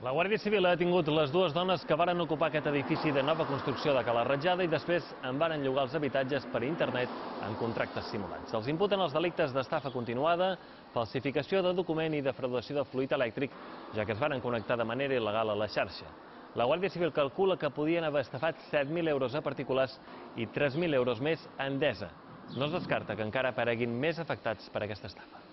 La Guàrdia Civil ha detingut les dues dones que varen ocupar aquest edifici de nova construcció de Cala Ratjada i després en varen llogar els habitatges per internet en contractes simulats. Els imputen els delictes d'estafa continuada, falsificació de document i defraudació de fluid elèctric, ja que es varen connectar de manera il·legal a la xarxa. La Guàrdia Civil calcula que podien haver estafat 7.000 euros a particulars i 3.000 euros més a Endesa. No es descarta que encara apareguin més afectats per aquesta estafa.